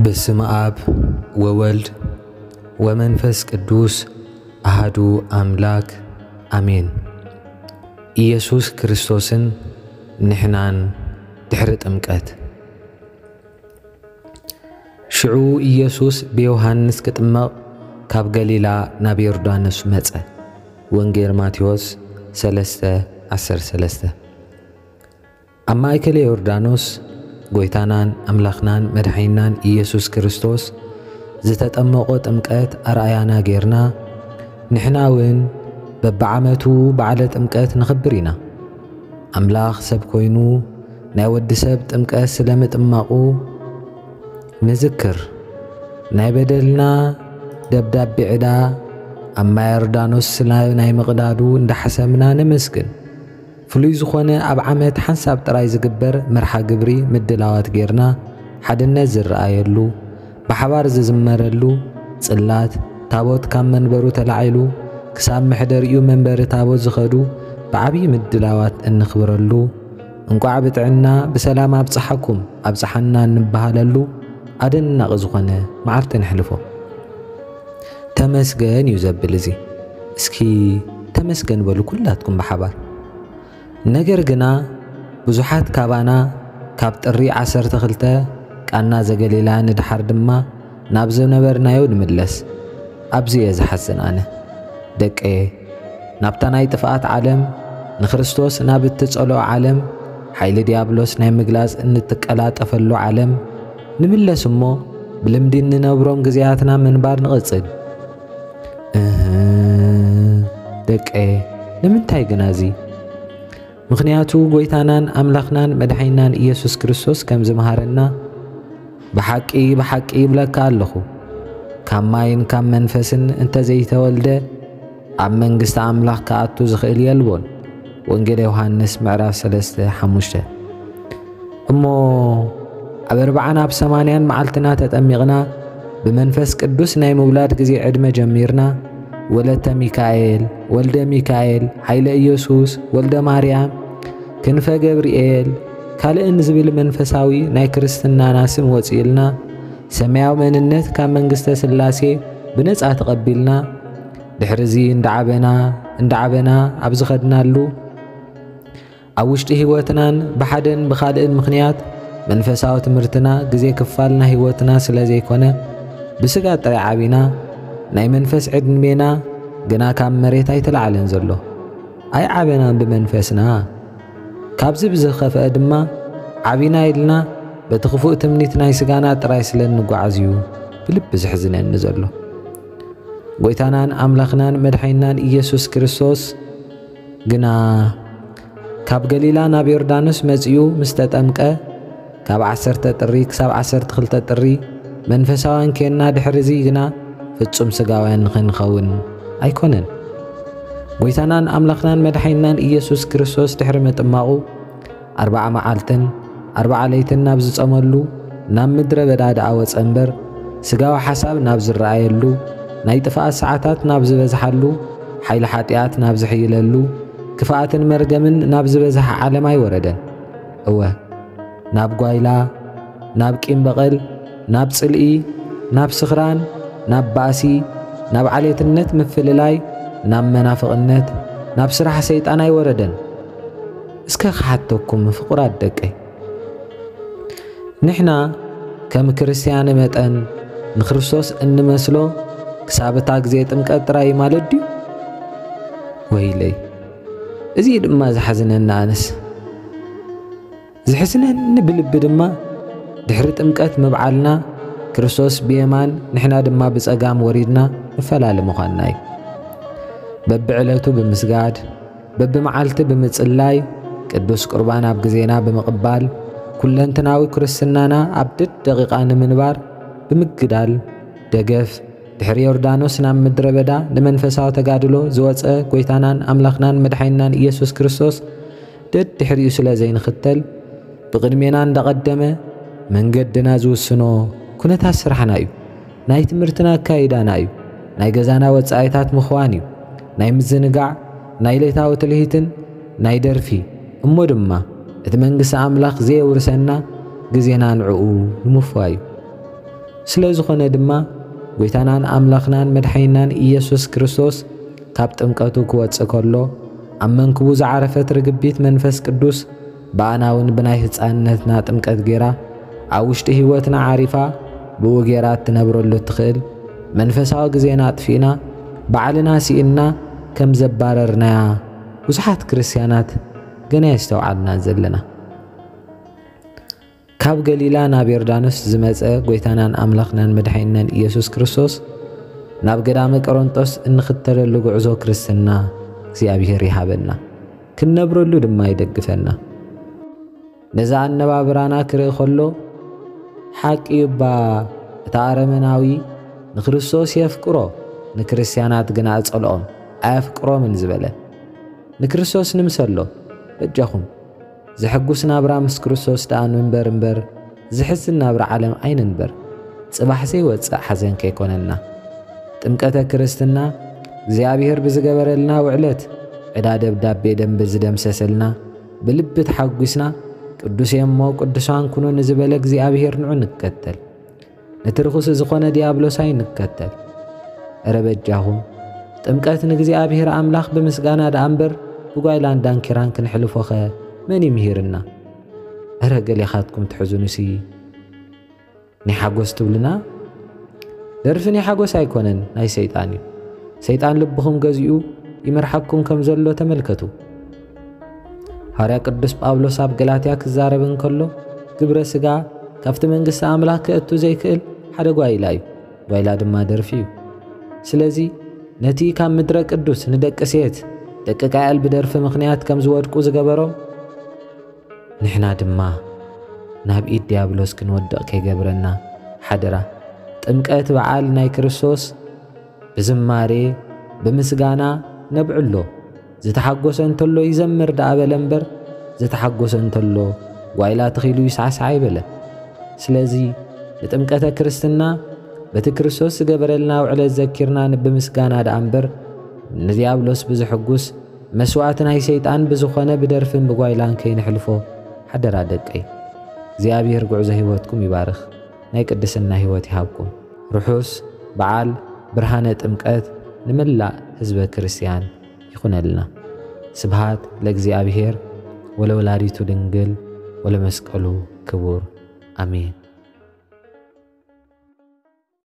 በስመ አብ ወወልድ ወመንፈስ ቅዱስ አሃዱ አምላክ አሜን። ኢየሱስ ክርስቶስን ንሕናን ድሕሪ ጥምቀት። ሽዑ ኢየሱስ ብዮሃንስ ክጥመቕ ካብ ገሊላ ናብ ዮርዳኖስ መጸ። ወንጌል ማቴዎስ ሰለስተ ዓሰርተ ሰለስተ። ኣብ ማእከል ዮርዳኖስ ጎይታናን ኣምላኽናን መድሓኒናን ኢየሱስ ክርስቶስ ዝተጠመቖ ጥምቀት ኣርኣያና ጌርና፣ ንሕና እውን በብዓመቱ በዓለ ጥምቀት ነኽብር ኢና። ኣምላኽ ሰብ ኮይኑ ናይ ወዲ ሰብ ጥምቀት ስለ ምጥማቑ ንዝክር። ናይ በደልና ደብዳቤ ዕዳ ኣብ ማይ ዮርዳኖስ ስለ ናይ ምቕዳዱ እንዳሓሰምና ነመስግን። ፍሉይ ዝኾነ ኣብ ዓመት ሓንሳብ ጥራይ ዝግበር መርሓ ግብሪ ምድላዋት ጌርና፣ ሓድነት ዝረኣየሉ፣ ብሓባር ዝዝመረሉ፣ ጽላት ታቦት ካብ መንበሩ ተላዒሉ ክሳብ መሕደሪኡ መንበሪ ታቦት ዝኸዱ ብዓብዪ ምድላዋት እንኽብረሉ፣ እንቋዕ ብጥዕና ብሰላም ኣብጽሓኩም ኣብጽሓና እንበሃለሉ ኣደናቒ ዝኾነ መዓልቲ ነሕልፎ። ተመስገን እዩ ዘብል እዚ። እስኪ ተመስገን በሉ ኩላትኩም ብሓባር። ነገር ግና ብዙሓት ካባና ካብ ጥሪ ዓሰርተ ክልተ ቃና ዘገሊላ ንድሓር ድማ ናብ ዝነበርናዮ ንምለስ። ኣብዚ እየ ዝሓዝን ኣነ። ደቀየ፣ ናብታ ናይ ጥፍኣት ዓለም፣ ንክርስቶስ ናብ እትጸልኦ ዓለም፣ ሓይሊ ዲያብሎስ ናይ ምግላጽ እንትቀላጠፈሉ ዓለም ንምለስ እሞ ብልምዲ እንነብሮም ግዜያትና ምንባር ንቕጽል። እህ፣ ደቀየ፣ ንምንታይ ግና እዚ? ምኽንያቱ ጎይታናን ኣምላኽናን መድሓኒናን ኢየሱስ ክርስቶስ ከም ዝመሃረና፣ ብሓቂ፣ ብሓቂ ይብለካ ኣለኹ፣ ካብ ማይን ካብ መንፈስን እንተዘይተወልደ፣ ኣብ መንግስቲ ኣምላኽ ክኣቱ ዝኽእል የልቦን። ወንጌል ዮሃንስ ምዕራፍ ሰለስተ ሓሙሽተ። እሞ ኣብ ኣርብዓን ኣብ ሰማንያን መዓልትና ተጠሚቕና፣ ብመንፈስ ቅዱስ ናይ ምውላድ ግዜ ዕድመ ጀሚርና፣ ወለተ ሚካኤል፣ ወልደ ሚካኤል፣ ኃይለ ኢየሱስ፣ ወልደ ማርያም፣ ክንፈ ገብርኤል፣ ካልእን ዝብል መንፈሳዊ ናይ ክርስትናና ስም ወጺኡልና፣ ሰማያዊ መንነት ካብ መንግስተ ሥላሴ ብነጻ ተቐቢልና፣ ድሕርዚ እንዳዓበና፣ እንዳዓበና ኣብ ዝኸድናሉ፣ ኣብ ውሽጢ ህይወትናን ብሓደን ብኻልእን ምኽንያት መንፈሳዊ ትምህርትና ግዜ ክፋል ናይ ህይወትና ስለ ዘይኮነ፣ ብስጋ ጥራይ ዓቢና፣ ናይ መንፈስ ዕድሜና ግና ካብ መሬት ኣይተላዕለን ዘሎ። ኣይዓበናን ብመንፈስና። ካብዚ ብዝኸፍአ ድማ፣ ዓቢና ኢልና በቲ ክፉእ ትምኒት ናይ ስጋና ጥራይ ስለ እንጓዓዝ እዩ ብልቢ ዘሕዝነኒ ዘሎ። ጎይታናን ኣምላኽናን መድሓኒናን ኢየሱስ ክርስቶስ ግና ካብ ገሊላ ናብ ዮርዳኖስ መጺኡ ምስ ተጠምቀ፣ ካብ ዓሰርተ ጥሪ ክሳብ ዓሰርተ ክልተ ጥሪ መንፈሳውያን ኬንና፣ ድሕርዚ ግና ፍጹም ስጋውያን ንኽንኸውን ኣይኮነን። ጎይታናን ኣምላኽናን መድሓኒናን ኢየሱስ ክርስቶስ ድሕሪ ምጥማቑ፣ ኣርብዓ መዓልትን ኣርብዓ ለይትን ናብ ዝጸመሉ ናብ ምድረ በዳ ደኣ ወጸ እምበር፣ ስጋዊ ሓሳብ ናብ ዝረኣየሉ፣ ናይ ጥፍኣት ሰዓታት ናብ ዝበዝሓሉ፣ ሓይሊ ሓጢኣት ናብ ዝሕይለሉ፣ ክፍኣትን መርገምን ናብ ዝበዝሓ ዓለም ኣይወረደን። እወ፣ ናብ ጓይላ፣ ናብ ቂም በቐል፣ ናብ ጽልኢ፣ ናብ ስኽራን፣ ናብ ባእሲ፣ ናብ ዓሌትነት ምፍልላይ፣ ናብ መናፍቕነት፣ ናብ ስራሕ ሰይጣን ኣይወረደን። እስከ ክሓተኩም ፍቑራት ደቀይ፣ ንሕና ከም ክርስትያን መጠን ንክርስቶስ እንመስሎ ክሳብ እታ ግዜ ጥምቀት ጥራይ ማለት ድዩ? ወይለይ፣ እዚ ድማ ዝሓዝነኒ ኣነስ። ዝሕዝነኒ ብልቢ ድማ ድሕሪ ጥምቀት ምብዓልና ክርስቶስ ብየማን ንሕና ድማ ብጸጋም ወሪድና ንፈላለ ምዃንና እዩ። በብዕለቱ ብምስጋድ፣ በብመዓልቲ ብምጽላይ፣ ቅዱስ ቁርባን ኣብ ግዜና ብምቕባል፣ ኩለንትናዊ ክርስትናና ኣብ ደደቂቓ ንምንባር ብምግዳል፣ ደገፍ ድሕሪ ዮርዳኖስ ናብ ምድረ በዳ ንመንፈሳዊ ተጋድሎ ዝወጸ ጎይታናን ኣምላኽናን መድሓኒናን ኢየሱስ ክርስቶስ ደድሕሪኡ ስለ ዘይንኽተል፣ ብቕድሜና እንዳቐደመ መንገድና ዝውስኖ ኩነታት ስራሕና እዩ። ናይ ትምህርትና ኣካይዳና እዩ። ናይ ገዛና ወጻኢታት ምኽዋን እዩ። ናይ ምዝንጋዕ፣ ናይ ሌታዊ ትልሂትን ናይ ደርፊ፣ እሞ ድማ እቲ መንግስቲ ኣምላኽ ዘየውርሰና ግዜና ንዕኡ ንምፍዋይ እዩ። ስለ ዝኾነ ድማ፣ ጎይታናን ኣምላኽናን መድሓኒናን ኢየሱስ ክርስቶስ ካብ ጥምቀቱ ክወጽእ ከሎ፣ ኣብ መንክቡ ዝዓረፈት ርግቢት መንፈስ ቅዱስ ብኣና እውን ብናይ ህጻንነትና ጥምቀት ጌራ ኣብ ውሽጢ ህይወትና ዓሪፋ፣ ብኡ ጌራ እትነብረሉ እትኽእል መንፈሳዊ ግዜና ኣጥፊእና፣ ባዕልና ስኢንና ከም ዘባረርናያ ብዙሓት ክርስትያናት ገና የስተውዓልና ዘለና። ካብ ገሊላ ናብ ዮርዳኖስ ዝመጸ ጎይታናን ኣምላኽናን መድሓኒናን ኢየሱስ ክርስቶስ፣ ናብ ገዳመ ቆሮንጦስ እንኽተለሉ ጉዕዞ ክርስትና እግዚኣብሔር ይሃበና፣ ክንነብረሉ ድማ ይደግፈና። ነዚ ኣነባብራና ክርኢ ከሎ፣ ሓቂ እባ እቲ ኣረመናዊ ንክርስቶስ የፍቅሮ፣ ንክርስትያናት ግና እጸልኦም፣ ኣየፍቅሮምን ዝበለ። ንክርስቶስ ንምሰሎ፣ በጃኹም። ዘሐጉስ ናብራ ምስ ክርስቶስ ደኣ ንንበር እምበር፣ ዘሕዝን ናብራ ዓለም ኣይንንበር። ጽባሕ ዘይወጽእ ሓዘን ከይኮነና። ጥምቀተ ክርስትና እግዚኣብሔር ብዝገበረልና ውዕለት፣ ዕዳ ደብዳቤ ደም ብዝደምሰሰልና፣ ብልቢ ተሓጒስና፣ ቅዱስ እየ እሞ ቅዱሳን ኩኑ ንዝበለ እግዚኣብሔር ንዑ ንከተል። ነቲ ርኹስ ዝኾነ ዲያብሎስ ኣይንከተል። እረ በጃኹም፣ ጥምቀት ንእግዚኣብሔር ኣምላኽ ብምስጋና ደኣ እምበር፣ ብጓይላን ዳንኪራን ክንሕልፎኸ መን ይምሂርና? እረ ገሌኻትኩም ትሕዝኑሲ፣ ናይ ሓጎስ ትብሉና? ደርፊ ናይ ሓጎስ ኣይኮነን፣ ናይ ሰይጣን እዩ። ሰይጣን ልብኹም ገዚኡ ይመርሓኩም ከም ዘሎ ተመልከቱ። ሃዋርያ ቅዱስ ጳውሎስ ኣብ ገላትያ ክዛረብ እንከሎ፣ ግብረ ሥጋ ካብቲ መንግስቲ ኣምላኽ ከእቱ ዘይክእል ሓደ ጓይላ እዩ። ጓይላ ድማ ደርፊ እዩ። ስለዚ ነቲ ካብ ምድረ ቅዱስ ንደቂ ሴት፣ ደቂ ቃየል ብደርፊ ምኽንያት ከም ዝወድቁ ዝገበሮም፣ ንሕና ድማ ናብ ኢድ ዲያብሎስ ክንወድቕ ከይገብረና ሓደራ። ጥምቀት በዓል ናይ ክርስቶስ ብዝማሬ ብምስጋና ነብዕሎ። ዝተሓጎሰ እንተሎ ይዘምር ደኣ በለ እምበር፣ ዝተሓጎሰ እንተሎ ጓይላ ተኺሉ ይሳዕሳዕ ኣይበለ። ስለዚ ንጥምቀተ ክርስትና በቲ ክርስቶስ ዝገበረልና ውዕለት ዘኪርና ንብምስጋና ደኣ እምበር፣ ንዲያብሎስ ብዝሕጉስ መስዋዕቲ ናይ ሰይጣን ብዝኾነ ብደርፍን ብጓይላን ከይንሕልፎ ሓደራ ደቀይ። እግዚኣብሔር ጉዕዞ ህይወትኩም ይባርኽ፣ ናይ ቅድስና ህይወት ይሃብኩም። ርሑስ በዓል ብርሃነ ጥምቀት ንመላእ ህዝበ ክርስቲያን ይኹነልና። ስብሃት ለእግዚኣብሔር ወለወላዲቱ ድንግል ወለመስቀሉ ክቡር። ኣሜን።